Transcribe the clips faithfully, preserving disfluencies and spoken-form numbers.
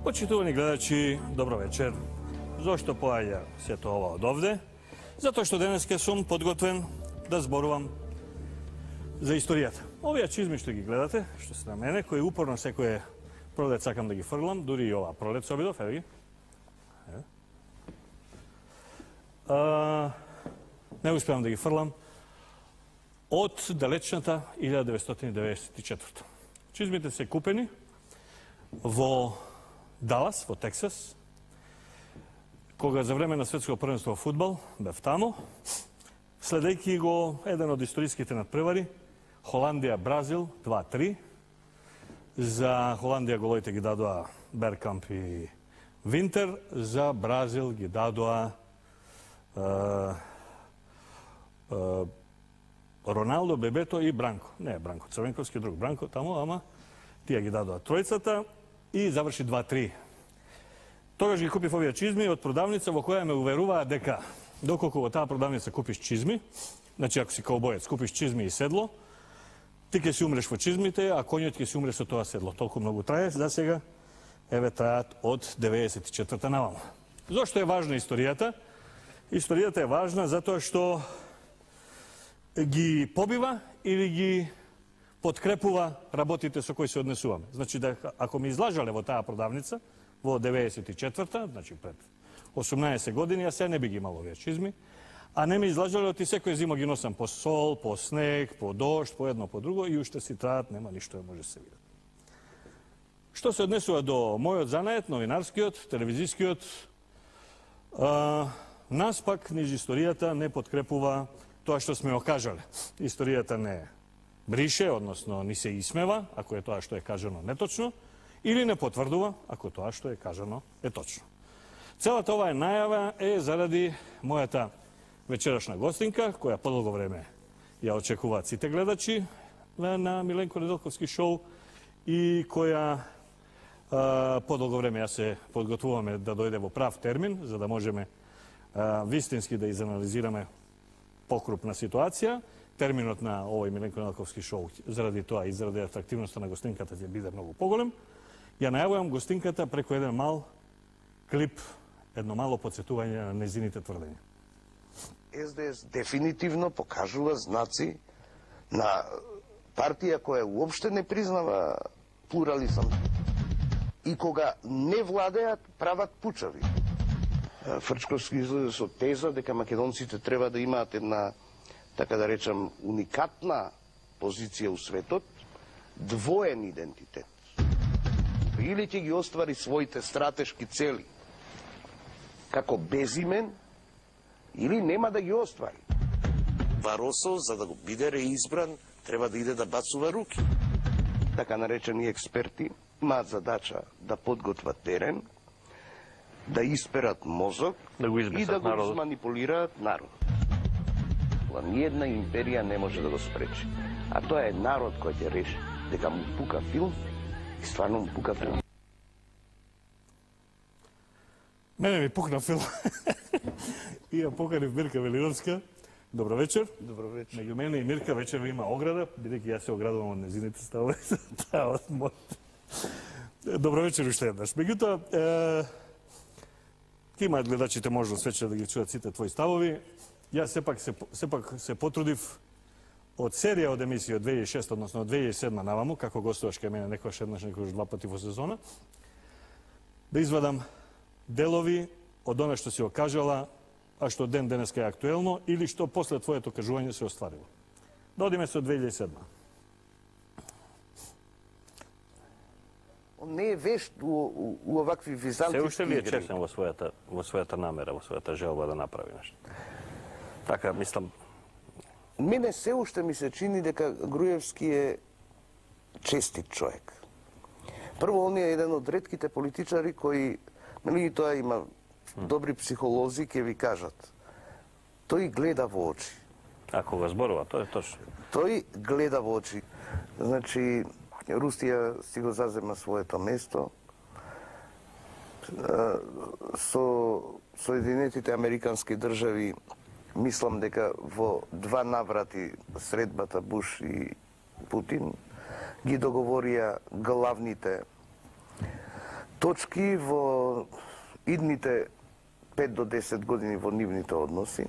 Почитувани гледачи, добро вечер. Зошто поаѓа сето ова од овде? Затоа што денеска сум подготвен да зборувам за историјата. Овие чизми што ги гледате, што се на мене, кои упорно секој пролет сакам да ги фрлам, дури и ова пролет се обидов, еве ги. А, не успеам да ги фрлам од далечната илјада деветстотини деветдесет и четврта. Чизмите се купени во Далас, во Тексас, кога за време на светско првенство во фудбал бев тамо, следејќи го еден од историските надпревари, Холандија-Бразил два три. За Холандија головите ги дадоа Беркамп и Винтер, за Бразил ги дадоа е, е, Роналдо, Бебето и Бранко. Не Бранко Црвенковски, друг Бранко тамо, ама тие ги дадоа тројцата и заврши два три. Тогаш ги купив овие чизми од продавница во која ме уверуваа дека доколку во таа продавница купиш чизми, значи ако си каубоец, купиш чизми и седло, ти ќе си умреш во чизмите, а коњот ќе си умре со тоа седло. Толку многу трае, за сега, еве траат од деветдесет и четврта наваму. Зошто е важна историјата? Историјата е важна затоа што ги побива или ги подкрепува работите со кои се однесуваме. Значи, да, ако ми излажале во таа продавница, во деветдесет и четврта, значи пред осумнаесет години, јас се не би ги имал овие чизми, а не ми излажале, оти секој зима ги носам по сол, по снег, по дожд, по едно, по друго, и уште си траат, нема ништо може се види. Што се однесува до мојот занает, новинарскиот, телевизискиот, а, нас пак низ историјата не подкрепува тоа што сме окажале. Историјата не брише, односно ни се исмева, ако е тоа што е кажано неточно, или не потврдува, ако тоа што е кажано е точно. Целата оваа најава е заради мојата вечерашна гостинка, која подолго време ја очекуваат сите гледачи на Миленко Неделковски шоу и која а, подолго време ја се подготвуваме да дојде во прав термин, за да можеме а, вистински да изанализираме покрупна ситуација. Терминот на овој Миленко Неделковски шоу заради тоа и заради атрактивноста на гостинката ќе биде многу поголем. Ја најавувам гостинката преку еден мал клип, едно мало подсетување на незините тврдења. Ес Де Ес дефинитивно покажува знаци на партија која уопште не признава плурализам. И кога не владеат, прават пучави. Фрчковски излезе со теза дека македонците треба да имаат една, така да речам, уникатна позиција у светот, двоен идентитет. Или ќе ги оствари своите стратешки цели како безимен, или нема да ги оствари. Баросо, за да го биде реизбран, треба да иде да бацува руки. Така наречени експерти имаат задача да подготват терен, да исперат мозок да го и да го манипулираат народ. Ниедна империја не може да го спречи. А тоа е народ кој ќе реши дека му пука филм и стварно му пука филм. Мене ми пукна филм. И ја поканив Мирка Велиновска. Добро вечер. Добро вечер. Меѓу мене и Мирка вечер има ограда, бидејќи јас се оградувам од незините ставови. Таа од моите. Добро вечер уште еднаш. Меѓутоа, е, ќе имаат гледачите можност вечер да ги чуат сите твои ставови. Јас сепак се, сепак се потрудив од серија од емисија од две илјади и шеста, односно од две илјади и седма наваму, како гостуваш кај мене некојаш еднаш, некојаш два пати во сезона, да извадам делови од она што си окажала, а што ден денеска е актуелно, или што после твоето кажување се остварило. Да одиме со две илјади и седма. Он не е вешт у, у, у овакви византиски игри. Се уште ли е честен во својата, во својата намера, во својата желба да направи нешто? Така, мислам... Мене се уште ми се чини дека Груевски е честит човек. Прво, он е еден од ретките политичари кои, нели тоа има добри психолози, ќе ви кажат. Тој гледа во очи. Ако го зборува, тоа е точно. Тој гледа во очи. Значи, Русија си го зазема своето место. Со Соединетите Американски држави мислам дека во два наврати средбата Буш и Путин ги договорија главните точки во идните пет до десет години во нивните односи.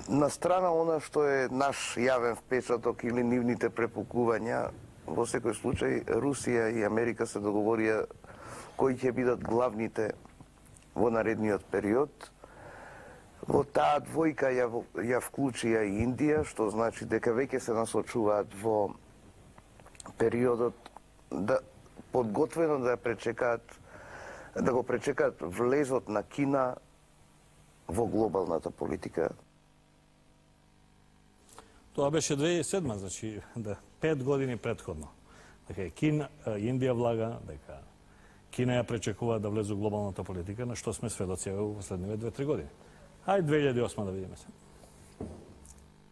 На страна она што е наш јавен впечаток или нивните препукувања, во секој случај Русија и Америка се договорија кои ќе бидат главните во наредниот период. Во таа двојка ја, ја вклучија и Индија, што значи дека веќе се насочуваат во периодот да подготвено да пречекаат да го пречекаат влезот на Кина во глобалната политика. Тоа беше две илјади и седма, значи да, пет години предходно. Дека Кина, Индија влага, дека Кина ја пречекува да влезе во глобалната политика, на што сме сведоци во последниве две-три години. Ај две илјади и осма да видиме се.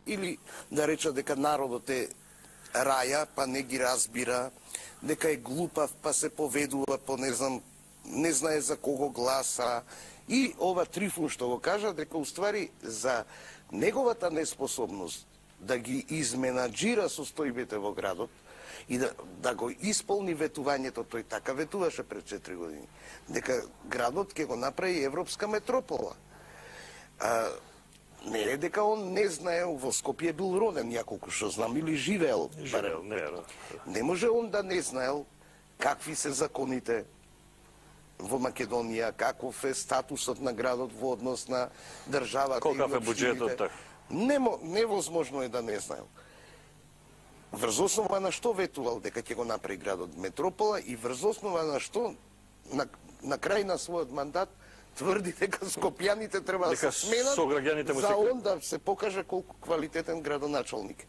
Или да реча дека народот е раја, па не ги разбира, дека е глупав, па се поведува по не знам, не знае за кого гласа. И ова Трифун што го кажа, дека уствари за неговата неспособност да ги изменаджира состојбите во градот и да, да го исполни ветувањето, тој така ветуваше пред четири години, дека градот ќе го направи европска метропола. А, не е дека он не знае, во Скопје бил роден няколку што знам, или живеел. Живеел, не, не може он да не знаел какви се законите во Македонија, каков е статусот на градот во однос на државата. Колкав е буџетот, така? Немо, невозможно е да не знаел. Врз основа на што ветувал дека ќе го направи градот метропола и врз основа на што на, на крај на својот мандат тврди дека скопјаните треба да се сменат за он да се покаже колку квалитетен градоначалник.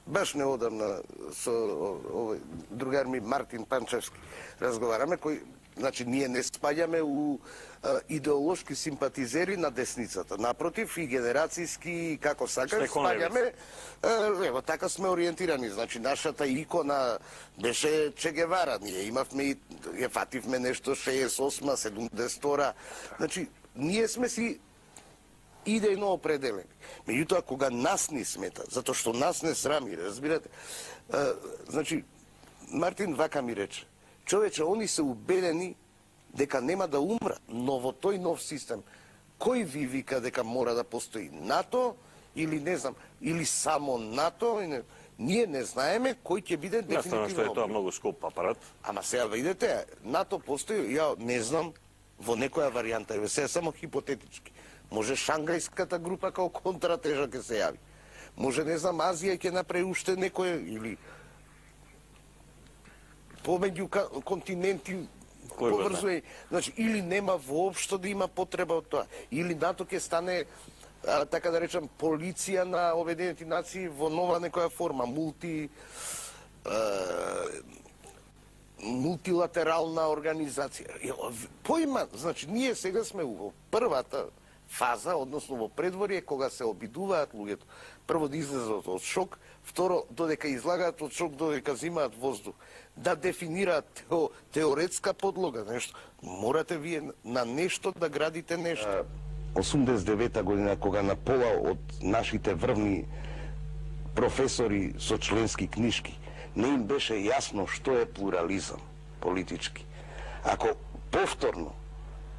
Баш неодамна со овој другар ми Мартин Панчевски разговараме, кој, значи, ние не спаѓаме у а, идеолошки симпатизери на десницата. Напротив, и генерацијски, како сакаш, спаѓаме, а, ево, така сме ориентирани. Значи, нашата икона беше Че Гевара. Ние имавме и, ја фативме нешто шеесет и осма, седумдесет и втора. Значи, ние сме си идејно определени. Меѓутоа, кога нас ни смета, затоа што нас не срами, разбирате, а, значи, Мартин вака ми рече, човече, они се убедени дека нема да умрат, но во тој нов систем, кој ви вика дека мора да постои НАТО, или не знам, или само НАТО, не, ние не знаеме кој ќе биде дефинитивно. Наставно што е тоа многу скуп апарат. Ама сега видите, НАТО постои, ја не знам, во некоја варијанта, еве сега само хипотетички. Може шангајската група као контратежа ќе се јави. Може, не знам, Азија ќе направи уште некој, или помеѓу континенти поврзува. Значи, или нема воопшто да има потреба од тоа. Или НАТО ќе стане, а, така да речам, полиција на Обединените нации во нова некоја форма, мулти... А, мултилатерална организација. Поима, значи, ние сега сме во првата фаза, односно во предворие, кога се обидуваат луѓето. Прво да излезат од шок, второ, додека излагаат од шок, додека взимаат воздух. Да дефинираат тео, теоретска подлога, нешто. Морате вие на нешто да градите нешто. осумдесет и девета година, кога на пола од нашите врвни професори со членски книжки, не им беше јасно што е плурализам политички. Ако повторно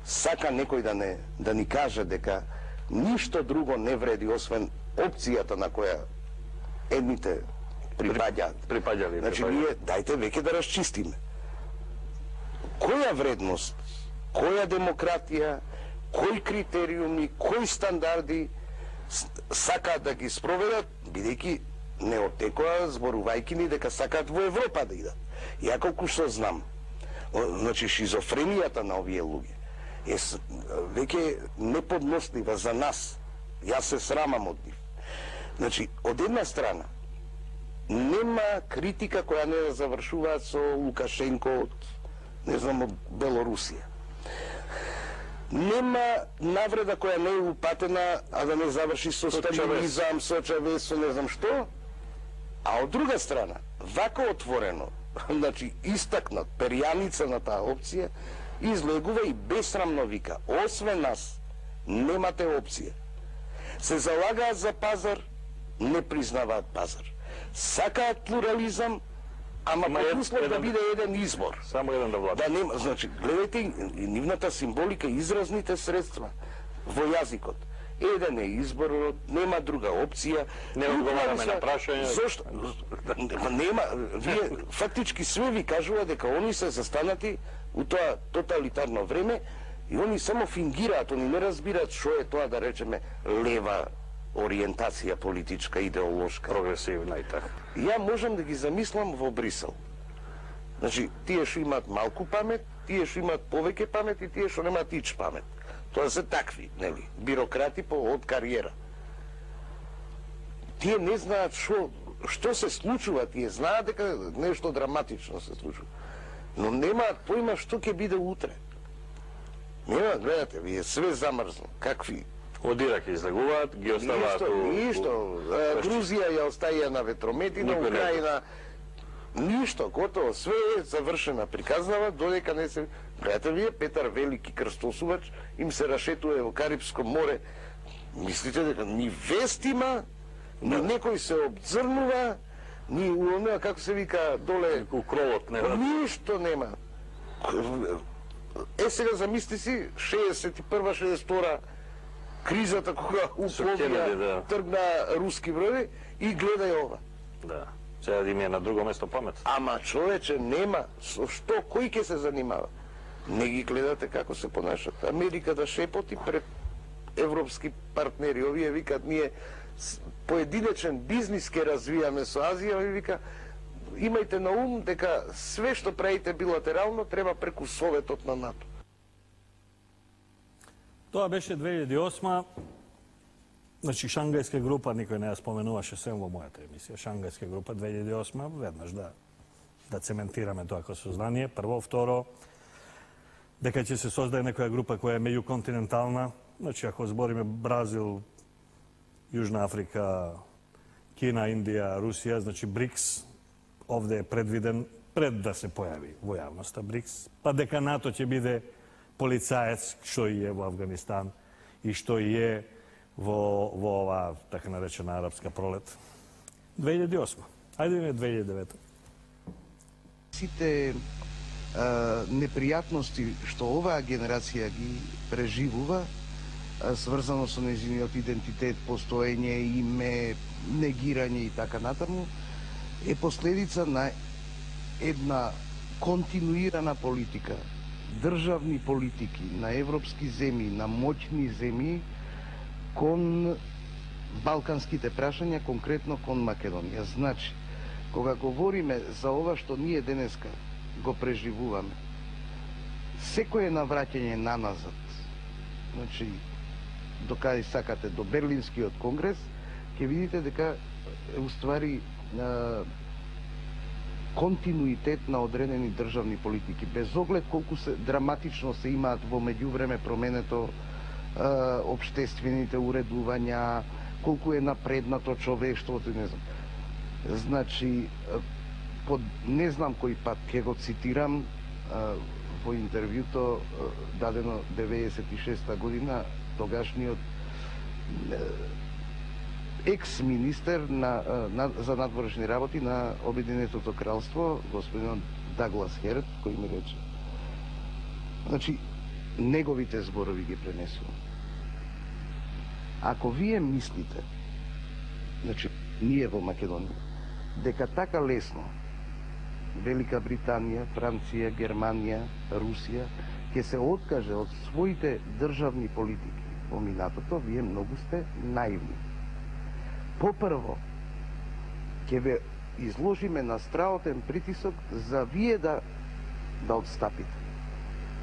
сака некој да не да ни каже дека ништо друго не вреди освен опцијата на која едните припаѓаат. Припаѓали. Значи ние дајте веќе да расчистиме. Која вредност, која демократија, кои критериуми, кои стандарди сакаат да ги спроведат, бидејќи не оттекоа зборувајќи ни дека сакаат во Европа да идат. Ја колку што знам, значи шизофренијата на овие луѓе е веќе неподнослива за нас. Јас се срамам од нив. Значи, од една страна, нема критика која не да завршуваат со Лукашенко од, не знам, од Белорусија. Нема навреда која не е упатена, а да не заврши со сталинизам, со Чавес, со не знам што. А од друга страна, вако отворено, значи истакнат перјаница на таа опција, излегува и бесрамно вика, освен нас, немате опција. Се залагаат за пазар, не признаваат пазар. Сакаат плурализам, Ама Има под ед- услов да еден- биде еден избор. Само еден да влада. Да нема, значи, гледајте нивната символика, изразните средства во јазикот. Еден е изборот, нема друга опција. Не одговараме на прашања. Зошто? Нема, вие фактички све ви кажува дека они се застанати у тоа тоталитарно време и они само фингираат, они не разбираат што е тоа, да речеме, лева ориентација политичка, идеолошка. Прогресивна и така. Ја можам да ги замислам во Брисел. Значи, тие што имаат малку памет, тие што имаат повеќе памет и тие што немаат ич памет. Тоа се такви, нели, бирократи по од кариера. Тие не знаат што што се случува, тие знаат дека нешто драматично се случува. Но немаат поима што ќе биде утре. Нема, гледате, вие све замрзно. Какви? Од Ирак излегуваат, ги оставаат Ништо, у... ништо. у- Грузија ја остаја на ветрометина, Никој не Украина. Ништо, готово, све е завршена приказнава, додека не се... Гледате вие, Петар Велики крстосувач, им се рашетува во Карипско море. Мислите дека ни вест има, ни некој се обзрнува, ни у онаа, како се вика, доле... У кровот не да... Ништо нема. Е, сега замисли си, шеесет и прва шеесет и втора кризата кога у Со Кенеди, да. Пловија тргна руски броји и гледај ова. Да. Сега да им е на друго место памет. Ама човече нема, со што, кој ќе се занимава? Не ги гледате како се понашат. Америка да шепоти пред европски партнери. Овие викат, ние с- поединечен бизнис ке развијаме со Азија, овие вика, имајте на ум дека све што правите билатерално треба преку Советот на НАТО. Тоа беше две илјади и осма. Значи, Шангајска група, никој не ја споменуваше сем во мојата емисија. Шангајска група две илјади и осма, веднаш да, да цементираме тоа како сознание. Прво, второ, дека ќе се создаде некоја група која е меѓуконтинентална. Значи, ако збориме Бразил, Јужна Африка, Кина, Индија, Русија, значи БРИКС, овде е предвиден пред да се појави во јавноста БРИКС, па дека НАТО ќе биде полицаец, што и е во Авганистан и што и е во, во ова така наречена арапска пролет. две илјади и осма. Ајде ми две илјади и девета. Сите а, непријатности што оваа генерација ги преживува, а, сврзано со нејзиниот идентитет, постоење, име, негирање и така натаму, е последица на една континуирана политика, државни политики на европски земји, на моќни земји кон балканските прашања, конкретно кон Македонија. Значи, кога говориме за ова што ние денеска го преживуваме, секое навраќање наназад, значи, до каде сакате, до Берлинскиот конгрес, ќе видите дека е уствари а, континуитет на одредени државни политики, без оглед колку се драматично се имаат во меѓувреме променето а, обштествените уредувања, колку е напреднато човештвото, не знам. Значи, под не знам кој пат ќе го цитирам а, во интервјуто а, дадено деветдесет и шеста година, тогашниот екс-министер на, на, за надворешни работи на Обединетото кралство, господин Даглас Херт, кој ми рече. Значи, неговите зборови ги пренесувам. Ако вие мислите, значи, ние во Македонија, дека така лесно Велика Британија, Франција, Германија, Русија ќе се откаже од своите државни политики во минатото, вие многу сте наивни. Попрво, ќе ве изложиме на страотен притисок за вие да да отстапите.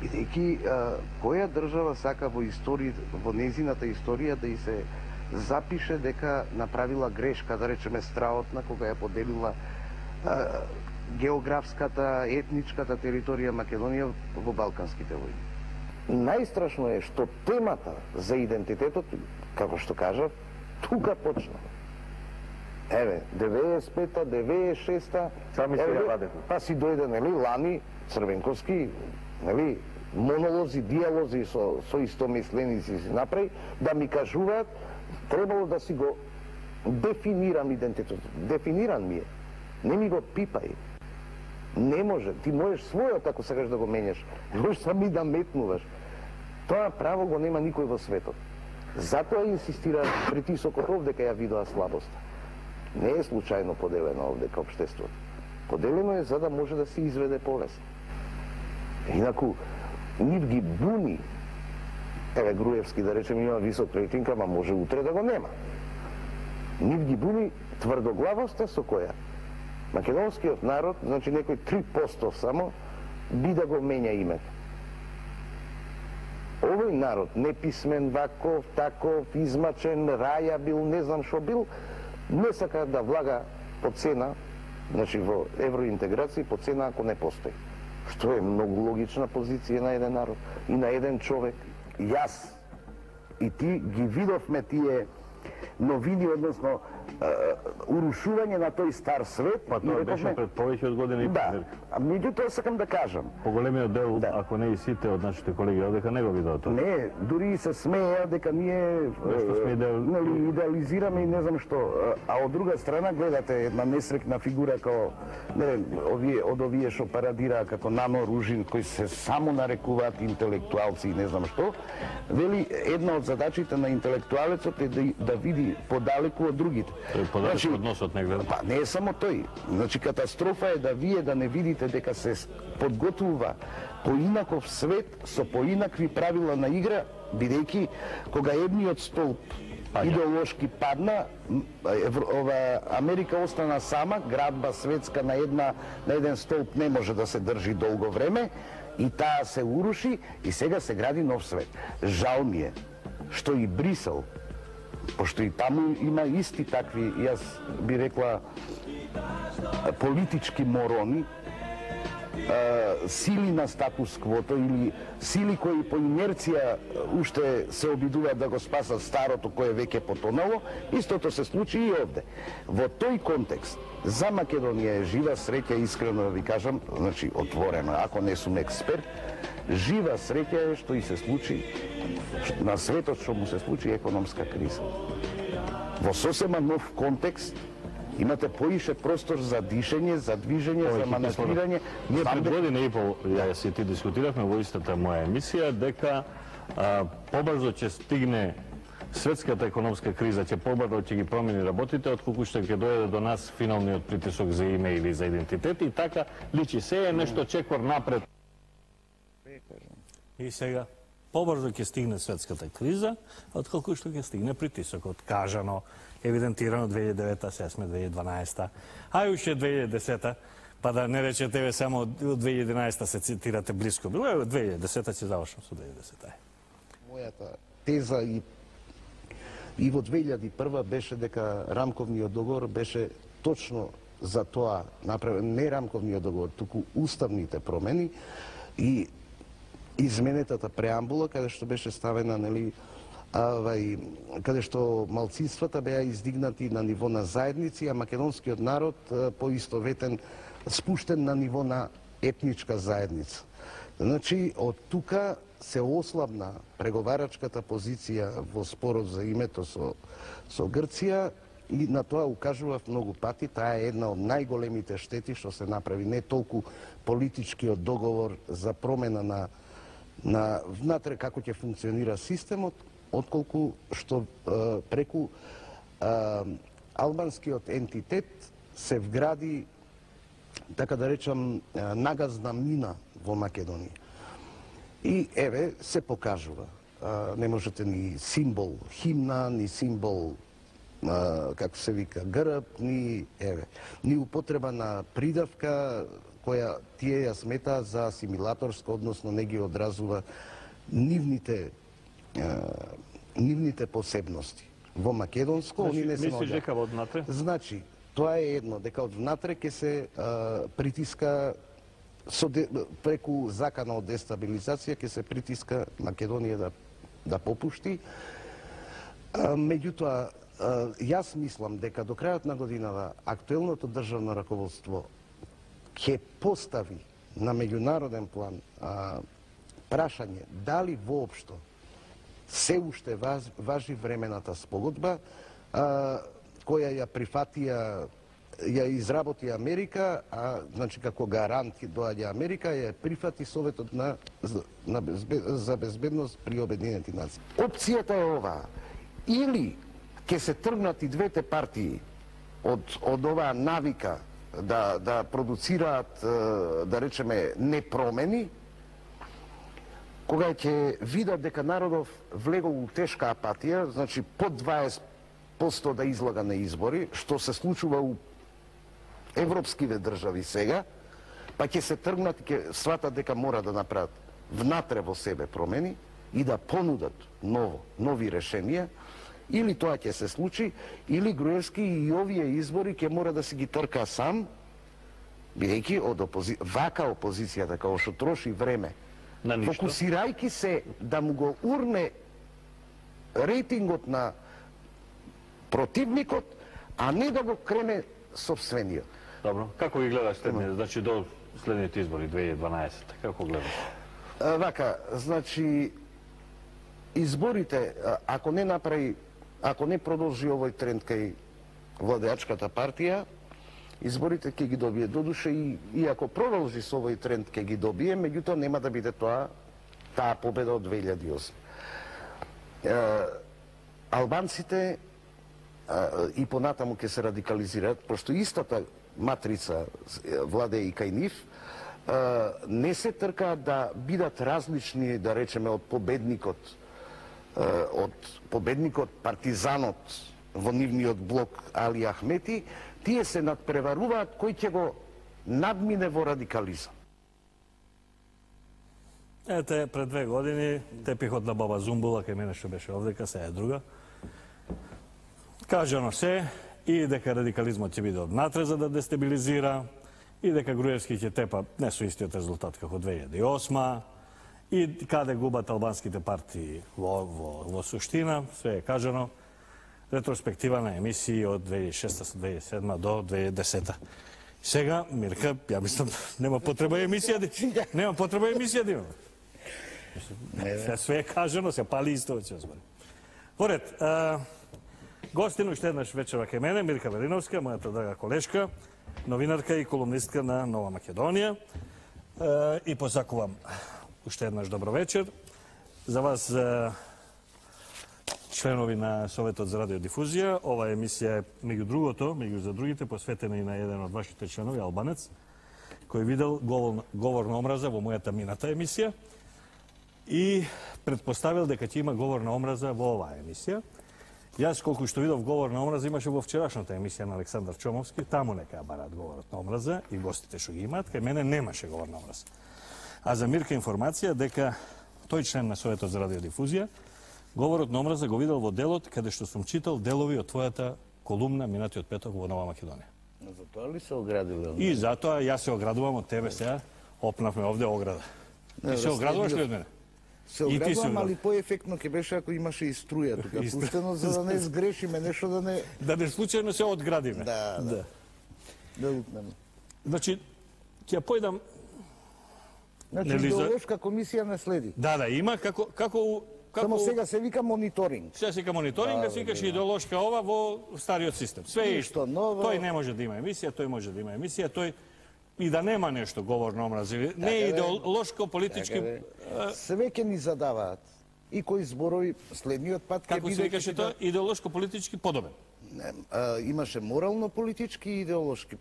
Бидејќи која држава сака во историја, во незината историја да и се запише дека направила грешка, да речеме страотна, кога ја поделила а, географската, етничката територија Македонија во Балканските војни. Најстрашно е што темата за идентитетот, како што кажав, тука почна. Еве, деветдесет и пета, деветдесет и шеста, Сами се ја вадете. па си дојде, нели, Лани Црвенковски, нели, монолози, диалози со, со истомисленици си направи, да ми кажуваат, требало да си го дефинирам идентитетот. Дефиниран ми е. Не ми го пипај. Не може. Ти можеш својот, ако сакаш да го менеш. Можеш сами да метнуваш. Тоа право го нема никој во светот. Затоа инсистира притисокот овде кај ја видоа слабост. Не е случајно поделено овде кај општеството. Поделено е за да може да се изведе повест. Инаку, нив ги буни. Еве Груевски, да речем, има висок рейтинг, ама може утре да го нема. Нив ги буни тврдоглавоста со која македонскиот народ, значи некој три проценти само, би да го менја името. Овој народ, неписмен, ваков, таков, измачен, раја бил, не знам шо бил, не сака да влага по цена, значи во евроинтеграција по цена ако не постои. Што е многу логична позиција на еден народ и на еден човек. Јас и ти ги видовме тие новини, односно урушување на тој стар свет. Па тоа беше пред повеќе од година и Да, половина. а меѓутоа сакам да кажам. Поголемиот дел, Да. ако не и сите од нашите колеги одека, не го видоа тоа. Не, дури и се смеја дека ние Нешто сме идеал- нели, идеализираме и не знам што. А од друга страна гледате една несрекна фигура како не, овие, од овие што парадираа како Нано Ружин, кои се само нарекуваат интелектуалци и не знам што. Вели, една од задачите на интелектуалецот е да, да види подалеку од другите. Тој подалеку од носот не гледа. Па не е само тој. Значи катастрофа е да вие да не видите дека се подготвува поинаков свет со поинакви правила на игра, бидејќи кога едниот столб Паѓа. идеолошки падна, Евро, ова Америка остана сама, градба светска на една на еден столб не може да се држи долго време и таа се уруши и сега се гради нов свет. Жал ми е што и Брисел, пошто и таму има исти такви, јас би рекла, политички морони, сили на статус квото или сили кои по инерција уште се обидуваат да го спасат старото кое веќе потонало, истото се случи и овде. Во тој контекст, за Македонија е жива среќа, искрено да ви кажам, значи отворено, ако не сум експерт, жива среќа е што и се случи на светот, што му се случи економска криза. Во сосема нов контекст, имате поише простор за дишење, за движење, за маневрирање. Ние Знам пред дека- година и пол, јас и ти дискутиравме во истата моја емисија, дека а, побрзо ќе стигне светската економска криза, ќе побрзо ќе ги промени работите, отколку што ќе дојде до нас финалниот притисок за име или за идентитет и така личи се е нешто чекор напред. И сега, побрзо ќе стигне светската криза, отколку што ќе стигне притисокот. Кажано, евидентирано две илјади и девета, сега сме две илјади и дванаесета, а и уште две илјади и десета, па да не речете ве само од две илјади и единаесета се цитирате близко. Било е две илјади и десета, ќе завршам со две илјади и десета. Мојата теза и и во две илјади и прва беше дека рамковниот договор беше точно за тоа направен, не рамковниот договор, туку уставните промени и изменетата преамбула, каде што беше ставена, нели, авај, каде што малцинствата беа издигнати на ниво на заедници, а македонскиот народ поистоветен, спуштен на ниво на етничка заедница. Значи, од тука се ослабна преговарачката позиција во спорот за името со, со Грција и на тоа укажував многу пати. Таа е една од најголемите штети што се направи. Не толку политичкиот договор за промена на, на внатре како ќе функционира системот, отколку што е, преку е, албанскиот ентитет се вгради, така да речам, е, нагазна мина во Македонија. И еве се покажува. А, не можете ни символ химна, ни символ а, како се вика грб, ни еве, ни употреба на придавка која тие ја смета за асимилаторска, односно не ги одразува нивните а, нивните посебности. Во македонско Значи, они не се мислиш наоѓаат. дека во однатре? Значи, тоа е едно, дека од внатре ќе се а, притиска со де, преку закана од дестабилизација ќе се притиска Македонија да да попушти. А, меѓутоа, а, јас мислам дека до крајот на годината актуелното државно раководство ќе постави на меѓународен план а, прашање дали воопшто се уште важ, важи времената спогодба а, која ја прифатија ја изработи Америка, а значи како гарант доаѓа Америка, ја прифати Советот на, на безбед, за безбедност при Обединените нации. Опцијата е оваа. Или ќе се тргнат и двете партии од, од оваа навика да, да продуцираат, да речеме, непромени, кога ќе видат дека народов влегол у тешка апатија, значи под дваесет проценти да излага на избори, што се случува у европскиве држави сега, па ќе се тргнат и ќе сватат дека мора да направат внатре во себе промени и да понудат ново, нови решенија, или тоа ќе се случи, или Груевски и овие избори ќе мора да си ги трка сам, бидејќи од опози... вака опозицијата, како што троши време, фокусирајќи се да му го урне рейтингот на противникот, а не да го крене собствениот. Добро. Како ги гледаш следните, значи до следните избори две илјади и дванаесетта, како гледаш? Вака, значи изборите, ако не направи, ако не продолжи овој тренд кај владеачката партија, изборите ќе ги добие. Додуше и, и ако продолжи со овој тренд ќе ги добие, меѓутоа нема да биде тоа таа победа од две илјади и осма. Е, албанците е, и понатаму ќе се радикализираат, пошто истата матрица владее и кај нив, е, не се тркаат да бидат различни, да речеме, од победникот, е, од победникот партизанот во нивниот блок Али Ахмети, тие се надпреваруваат кој ќе го надмине во радикализам. Ете, пред две години, тепихот на баба Зумбула, кај мене што беше овдека, се е друга. Кажано се, и дека радикализмот ќе биде однатре за да дестабилизира, и дека Груевски ќе тепа не со истиот резултат како две илјади и осма, и каде губат албанските партии во, во, во суштина, све е кажано. Ретроспектива на емисии од две илјади и шеста до две илјади и седма до две илјади и десета. Сега, Мирка, ја мислам, нема потреба емисија да нема потреба емисија да има. Се све е кажано, се пали исто ќе збори. Поред, а, гостин уште еднаш вечера кај мене, Мирка Велиновска, мојата драга колешка, новинарка и колумнистка на Нова Македонија. А, и посакувам уште еднаш добро вечер. За вас, а, членови на Советот за радиодифузија, ова емисија е, меѓу другото, меѓу за другите, посветена и на еден од вашите членови, албанец, кој видел говор, говор на омраза во мојата мината емисија и предпоставил дека ќе има говор на омраза во оваа емисија. Јас, колку што видов говор на омраза, имаше во вчерашната емисија на Александар Чомовски, таму нека барат говорот на омраза и гостите што ги имаат, кај мене немаше говор на омраза. А за Мирка информација дека тој член на Советот за радиодифузија говорот на омраза го видел во делот каде што сум читал делови од твојата колумна минатиот петок во Нова Македонија. За тоа ли се оградил? И затоа јас се оградувам од тебе сега, опнавме овде ограда. Ти се оградуваш ли од мене? Се оградувам, али поефектно ќе беше ако имаше и струја тука пуштено, за да не сгрешиме нешто, да не... Да не случајно се одградиме. Да, да. Да утнеме. Значи, ќе појдам... Значи, идеолошка комисија не следи. Да, да, има, како... како Како... Само сега се вика мониторинг. Сега се вика мониторинг, да се викаше идеолошка ова во стариот систем. Све е исто. Ново... Тој не може да има емисија, тој може да има емисија, тој и да нема нешто говор на омраза. Не е идеолошко, политички... Све ќе ни задаваат. И кои зборови следниот пат ќе биде... Како се викаше тоа? Идеолошко, политички подобен. Не, а, имаше морално-политички и идеолошки,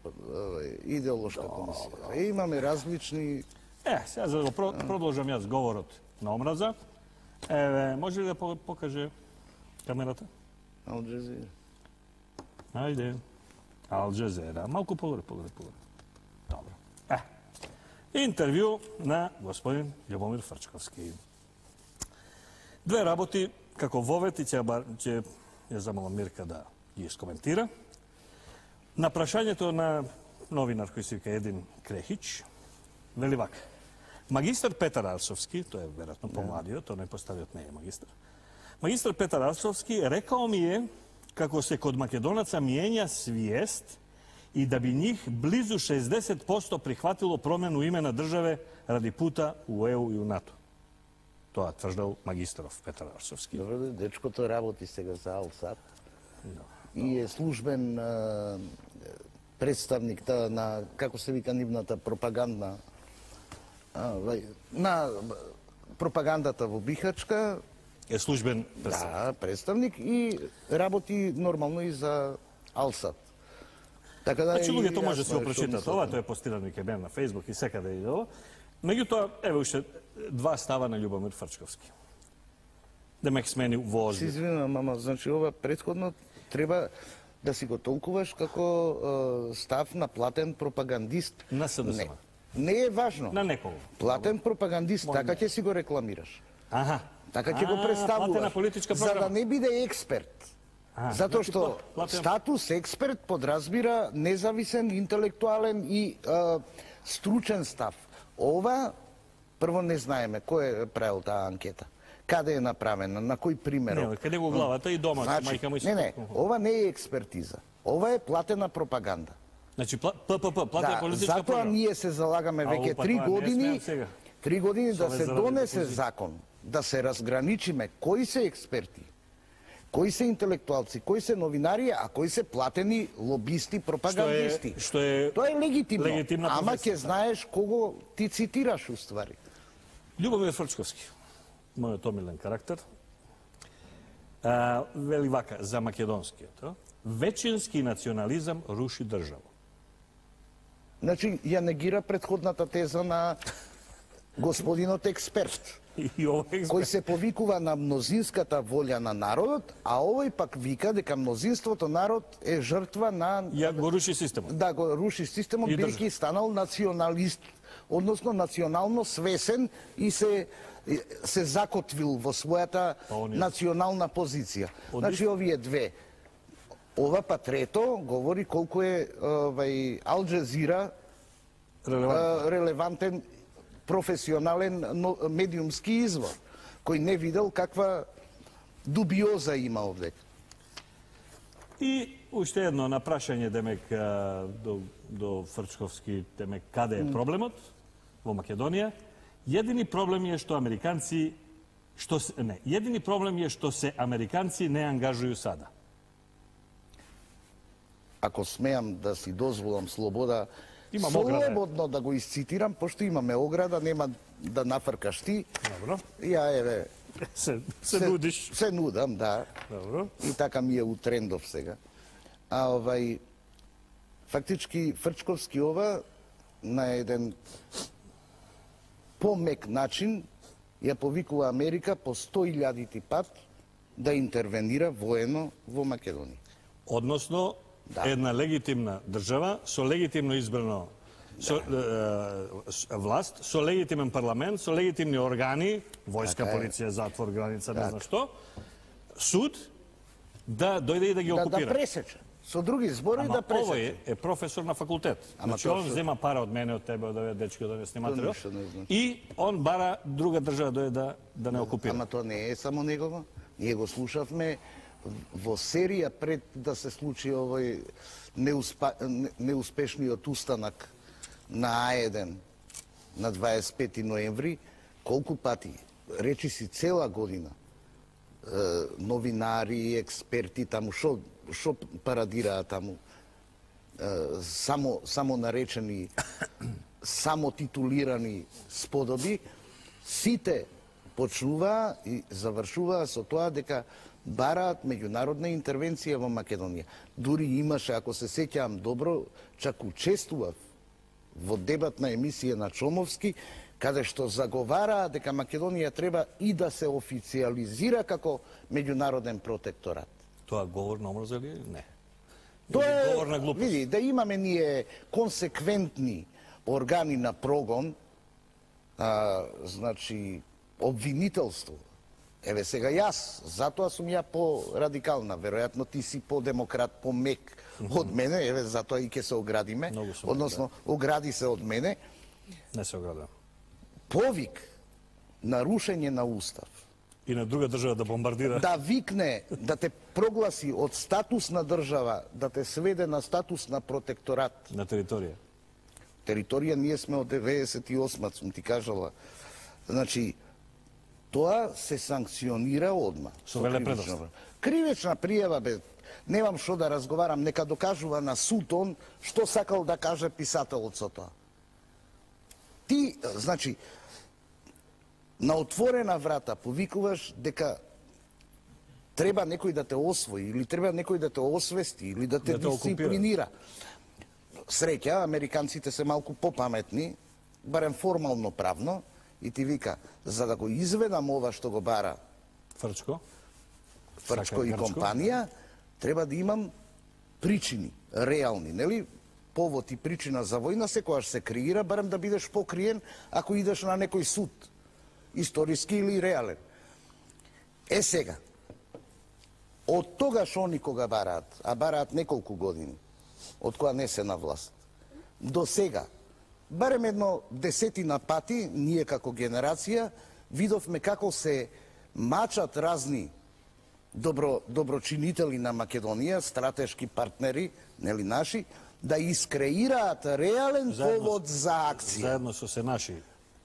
идеолошка комисија. Е, имаме различни... Е, сега за да го продолжам јас говорот на омраза, еве, може ли да покаже камерата? Ал Джазира. Ајде. Ал Джазира. Малку погоре, погоре, погоре. Добро. Е. Интервју на господин Љубомир Фрчковски. Две работи, како вовет, и ќе ќе ја замолам Мирка да ги искоментира. На прашањето на новинар кој се вика Един Крехич, вели вака. Магистар Петар Арсовски, тој е веројатно помладиот, тој најпоставиот не е магистар. Магистар Петар Арсовски рекао ми е како се код македонаца мијења свиест и да би нив близу шеесдесет проценти прихватило промену име на државе ради пута у Е У и у НАТО. Тоа тврдел магистров Петар Арсовски. Добро, дечкото работи сега за Алсат и е службен представник та, на, како се вика нивната пропагандна, а, на пропагандата во Бихачка. Е службен представник. Да, представник и работи нормално и за Алсат. Така да Значи луѓето може да јасно се го е што прочитат мислат. ова, тоа е постирано и кај мен на Фејсбук и секаде и ова. Меѓутоа, еве уште два става на Љубомир Фрчковски. Демек смени во Се озбил. извинувам, ама значи ова претходно треба да си го толкуваш како е, став на платен пропагандист. На СДСМ. Не, не е важно. На некого. Платен пропагандист, Мој така не. ќе си го рекламираш. Аха. Така ќе го А, платена представуваш. политичка За програма. да не биде експерт. А, Затоа значи, што пла- платен- статус експерт подразбира независен, интелектуален и е, стручен став. Ова, прво не знаеме кој е правил таа анкета. Каде е направена, на кој примерок. Не, каде го главата и дома, Значи, мајка му и не, не, сестра. ова не е експертиза. Ова е платена пропаганда. Значи, пла- ППП, платена Да, политичка затоа програма. ние се залагаме А, веќе опа, три тоа не години, смеам сега. три години да Совет се заради донесе депозит. закон, да се разграничиме кои се експерти, кои се интелектуалци, кои се новинари, а кои се платени лобисти, пропагандисти. Што е- Тоа е легитимно, легитимна ама професија, ќе знаеш кого ти цитираш уствари. Љубомир Фрчковски, мојот омилен карактер, а, вели вака за македонскиот. а? Вечински национализам руши држава. Значи, ја негира претходната теза на господинот експерт, И овој кој се повикува на мнозинската волја на народот, а овој пак вика дека мнозинството народ е жртва на... ја го руши системот. Да, го руши системот, И бидејќи станал националист, односно национално свесен и се се закотвил во својата Па оние- национална позиција. Значи, овие две. Ова па трето говори колку е овај Ал Джазира Релевантно. а, релевантен професионален но, медиумски извор, кој не видел каква дубиоза има овде. И уште едно на прашање, демек, а, до, до Фрчковски, демек, каде е проблемот во Македонија? Едини проблем е што американци, што се, не, едини проблем е што се американци не ангажуju сада. Ако смеам да си дозволам слобода, Имам ограда. слободно да го исцитирам, пошто имаме ограда, нема да нафркаш ти. Добро. Ја еве, Се, се нудиш. Се нудам, да. Добро. И така ми е утрендов сега. А овај, фактички Фрчковски ова на еден помек начин ја повикува Америка по сто илјадити пат да интервенира воено во Македонија. Односно, Да. една легитимна држава со легитимно избрано со, е, с- власт, со легитимен парламент, со легитимни органи, војска, Така е. полиција, затвор, граница, не Така. знам што, суд да дојде и да ги Да, да окупира. пресече. Со други зборови Ама да пресече. овој е, е професор на факултет. Ама Значи тоа он што- зема пара од мене, од тебе, од овие дечки, од овие сниматели. ништо не значи. И он бара друга држава дојде да да не окупира. Ама тоа не е само негово. Ние го слушавме во серија пред да се случи овој неуспа, не- неуспешниот устанак на А еден на дваесет и пети ноември, колку пати, речи си цела година, е, новинари, експерти таму, шо, шо парадираа таму, е, само, само наречени, само титулирани сподоби, сите почнуваа и завршуваа со тоа дека бараат меѓународна интервенција во Македонија. Дури имаше, ако се сеќавам добро, чак учествував во дебатна емисија на Чомовски, каде што заговараа дека Македонија треба и да се официализира како меѓународен протекторат. Тоа говор на омраза или не? Тоа Или е, говор на глупост? види, да имаме ние консеквентни органи на прогон, а, значи, обвинителство. Еве сега јас, затоа сум ја по-радикална, веројатно ти си по-демократ, по-мек од мене, еве затоа и ќе се оградиме, Многу сум, односно огради се од мене, Не се оградам. повик на рушење на устав, И на друга држава да бомбардира. да викне, да те прогласи од статус на држава, да те сведе на статус на протекторат. На територија. Територија ние сме од деветдесет и осма, сум ти кажала. Значи, тоа се санкционира одма. Со велепредоста. Кривична пријава, бе, немам што да разговарам, нека докажува на суд он што сакал да каже писателот со тоа. Ти, значи, на отворена врата повикуваш дека треба некој да те освои, или треба некој да те освести, или да те Да те дисциплинира. Среќа, американците се малку попаметни, барем формално правно, и ти вика, за да го изведам ова што го бара Фрчко. Фрчко и Грчко. компанија, треба да имам причини, реални, нели? Повод и причина за војна секогаш се креира, барем да бидеш покриен ако идеш на некој суд, историски или реален. Е сега, од тогаш они кога бараат, а бараат неколку години, од која не се на власт, до сега, барем едно десетина пати, ние како генерација, видовме како се мачат разни добро, доброчинители на Македонија, стратешки партнери, нели наши, да искреираат реален Заедно- повод за акција. Заедно со се наши.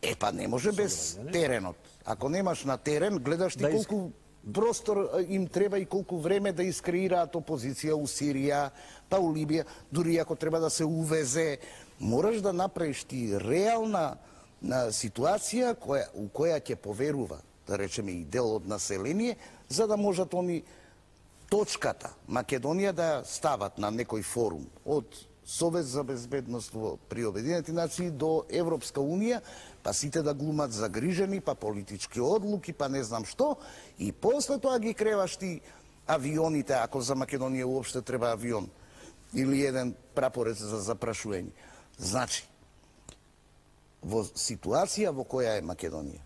Е, па не може без теренот. Ако немаш на терен, гледаш ти Да иск- колку простор а, им треба и колку време да искреираат опозиција у Сирија, па у Либија, дури ако треба да се увезе, мораш да направиш ти реална на, ситуација која, у која ќе поверува, да речеме и дел од население, за да можат они точката Македонија да ја стават на некој форум од Совет за безбедност во при Обединети нации до Европска унија, па сите да глумат загрижени, па политички одлуки, па не знам што, и после тоа ги креваш ти авионите, ако за Македонија уопште треба авион, или еден прапорец за запрашување. Значи, во ситуација во која е Македонија,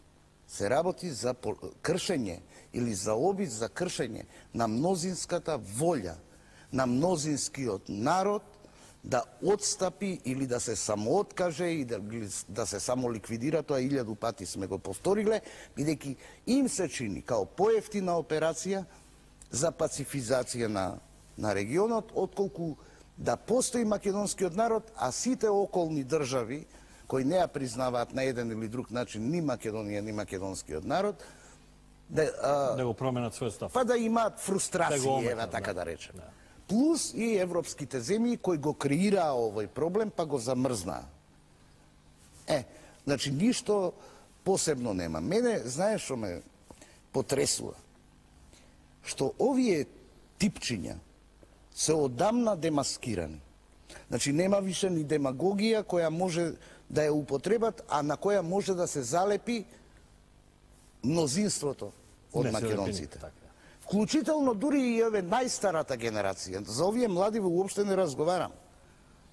се работи за кршење или за обид за кршење на мнозинската волја, на мнозинскиот народ да отстапи или да се самооткаже и да, да се самоликвидира, тоа илјаду пати сме го повториле, бидејќи им се чини као поевтина операција за пацифизација на, на регионот, отколку да постои македонскиот народ, а сите околни држави кои не ја признаваат на еден или друг начин ни Македонија, ни македонскиот народ, да, а, Да го променат свој став. па да имаат Да фрустрации, го ометат, ева така да. да речем. Да. Плюс и европските земји кои го креираа овој проблем, па го замрзнаа. Е, значи ништо посебно нема. Мене, знаеш што ме потресува? Што овие типчиња се одамна демаскирани. Значи нема више ни демагогија која може да ја употребат, а на која може да се залепи мнозинството од Не се македонците. лепи, така. Вклучително дури и ове најстарата генерација. За овие млади уопште не разговарам.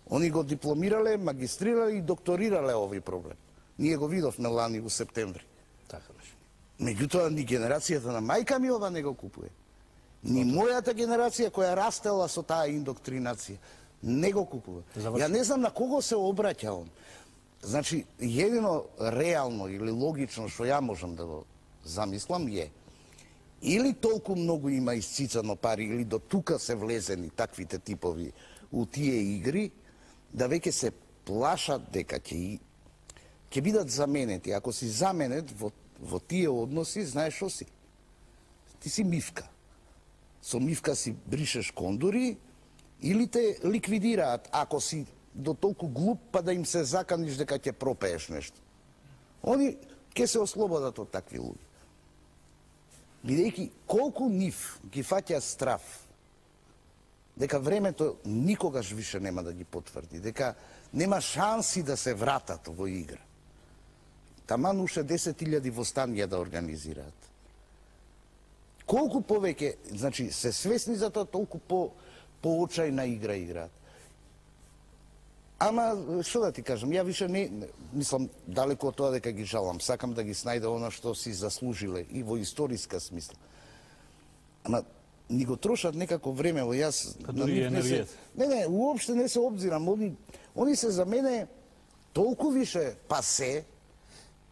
Они го дипломирале, магистрирале и докторирале овој проблем. Ние го видовме лани во септември. Така беше. Меѓутоа, ни генерацијата на мајка ми ова не го купуе. Ни мојата генерација која растела со таа индоктринација не го купува. Заврши. Ја не знам на кого се обраќа он. Значи, едино реално или логично што ја можам да го замислам е или толку многу има исцицано пари, или до тука се влезени таквите типови у тие игри, да веќе се плашат дека ќе ќе бидат заменети. Ако си заменет во, во тие односи, знаеш што си? Ти си мивка. Со мивка си бришеш кондури или те ликвидираат, ако си до толку глуп па да им се заканиш дека ќе пропееш нешто. Они ќе се ослободат од такви луѓе. Бидејќи колку нив ги фаќа страф дека времето никогаш више нема да ги потврди, дека нема шанси да се вратат во игра. Таман уште десет илјади востанија да организираат. Колку повеќе, значи, се свесни за тоа, толку по поочајна игра играат. Ама, што да ти кажам, ја више не, мислам, далеко од тоа дека ги жалам, сакам да ги снајде она што си заслужиле и во историска смисла. Ама, ни го трошат некако време, во јас... Па на дури нив не се- енергијата. Не, не, уопште не се обзирам, они, они се за мене толку више пасе,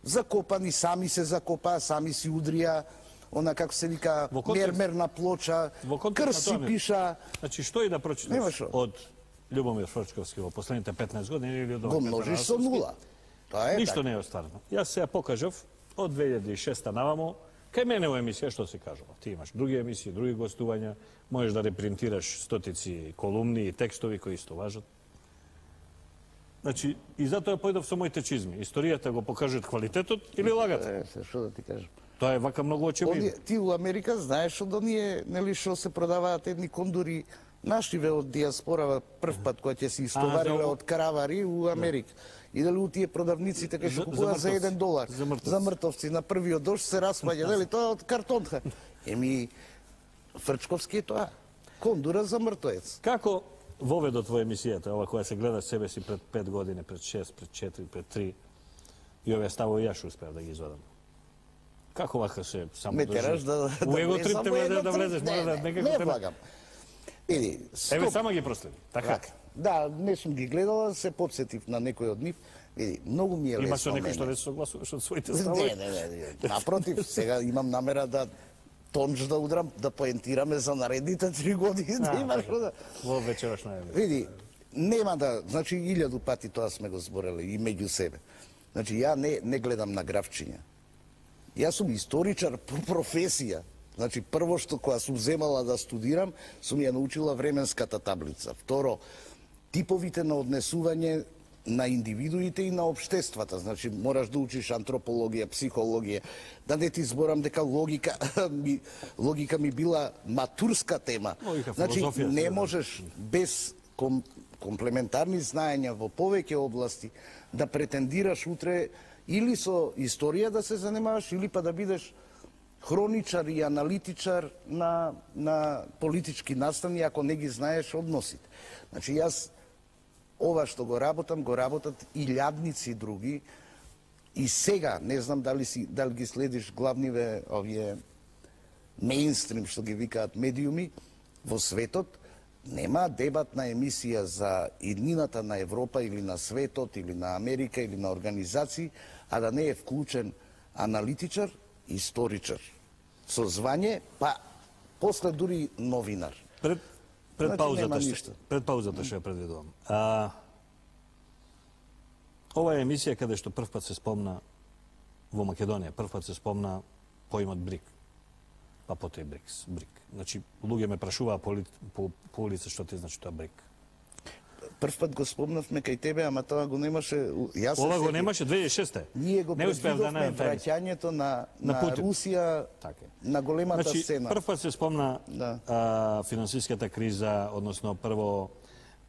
закопани, сами се закопаа, сами си удрија, она како се вика Во контекст- мермерна плоча, Во контекст на крси тоа ми- пиша, Значи, што и да Нема прочиташ шо. од Љубомир Фрчковски во последните петнаесет години или од го овој множиш со Петар нула. Тоа е Ништо така. не е остварено. Јас се ја покажав од две илјади и шеста навамо, Кај мене во емисија што се кажува? Ти имаш други емисии, други гостувања, можеш да репринтираш стотици колумни и текстови кои исто важат. Значи, и затоа појдов со моите чизми. Историјата го покажат квалитетот или лагат. Е, се, што да ти кажам? Тоа е вака многу очевидно. Ти у Америка знаеш од оние, нели, што се продаваат едни кондури нашиве од диаспорава прв пат која ќе се истовариле од каравари у Америка. И дали у тие продавниците кај што купуваат за еден долар за мртовци. за мртовци на првиот дожд се распаѓа, нели, тоа од картонка. Еми Фрчковски е тоа. Кондура за мртвец. Како воведот во емисијата, ова која се гледаш себе си пред пет години, пред шест, пред четири, пред три, и овие ставови јас успеав да ги извадам. Како вака се само Ме тераш да У да его влезам трип те во влезеш едно да трип. влезеш, мора Не, да не, некако не те... влагам. Еди, Еве стоп. само ги проследи. Така. Да, не сум ги гледала, се потсетив на некој од нив. Види, многу ми е лесно. Има со некој мене. што не се согласуваш од своите Не, ставови? не, не, не. Напротив, сега имам намера да тонч да удрам, да поентираме за наредните три години, да има што да... Во вечерашна емисија. Види, нема да, значи илјаду пати тоа сме го зборели и меѓу себе. Значи ја не не гледам на графчиња. Јас сум историчар по професија. Значи прво што кога сум земала да студирам, сум ја научила временската таблица. Второ, типовите на однесување на индивидуите и на општествата. Значи, мораш да учиш антропологија, психологија. Да не ти зборам дека логика ми, логика ми била матурска тема. Логика, Значи, филозофија, не да. можеш без ком, комплементарни знаења во повеќе области да претендираш утре или со историја да се занимаваш, или па да бидеш хроничар и аналитичар на, на политички настани, ако не ги знаеш односите. Значи, јас ова што го работам, го работат илјадници други, и сега, не знам дали, си, дали ги следиш главниве овие мејнстрим, што ги викаат медиуми, во светот, нема дебатна емисија за иднината на Европа или на светот, или на Америка, или на организации, а да не е вклучен аналитичар, историчар, со звање, па после дури новинар. Пред пред Значи, паузата нема што ништо. пред паузата што ја предвидувам. А ова е емисија каде што прв пат се спомна во Македонија, прв пат се спомна поимот БРИК. Па потоа и БРИКС, БРИК. Значи луѓе ме прашуваа по, по, по улица што ти значи тоа БРИК. Прв пат го спомнавме кај тебе, ама тоа го немаше. Јас се Ова го сетив. немаше две илјади и шеста. Ние го не успеав да предвидовме најдам тај емисија. враќањето на, На на, Путин. Русија Така е. на големата Значи, сцена. прв пат се спомна Да. а, финансиската криза, односно прво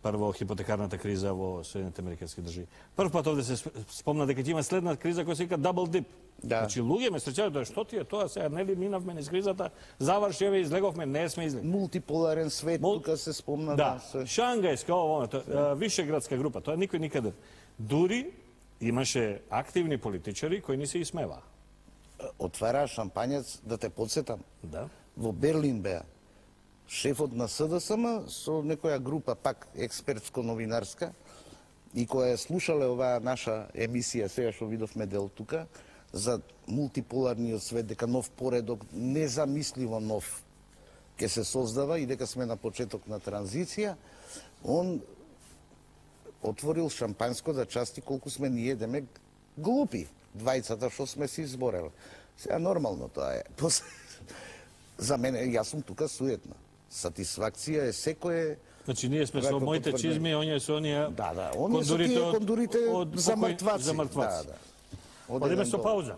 прво хипотекарната криза во Соединените американски држави. Прв пат овде се спомна дека ќе има следна криза која се вика дабл дип. Да. Значи луѓе ме среќаваат тоа што ти е тоа сега, нели минавме низ кризата, заврши еве излеговме, не сме излегли. Мултиполарен свет, Мул- тука се спомна. Да, се- Шангајска, ово, тоа, а, вишеградска група, тоа никој никаде. Дури имаше активни политичари кои ни се исмеваа. Отвара шампањец, да те подсетам. Да. Во Берлин беа шефот на СДСМ со некоја група, пак експертско-новинарска, и која слушале оваа наша емисија, сега што видовме дел тука, за мултиполарниот свет, дека нов поредок, незамисливо нов, ќе се создава и дека сме на почеток на транзиција, он отворил шампанско да части колку сме ние едеме глупи, двајцата што сме си изборели. Сега нормално тоа е. После... За мене, јас сум тука суетна. Сатисфакција е секое... Значи ние сме со Вака моите потврдено. чизми, оние со оние Да, да, оние со тие кондурите од за покој- мртваци. За мртваци. Да, да. Од Одиме еден со долар. пауза.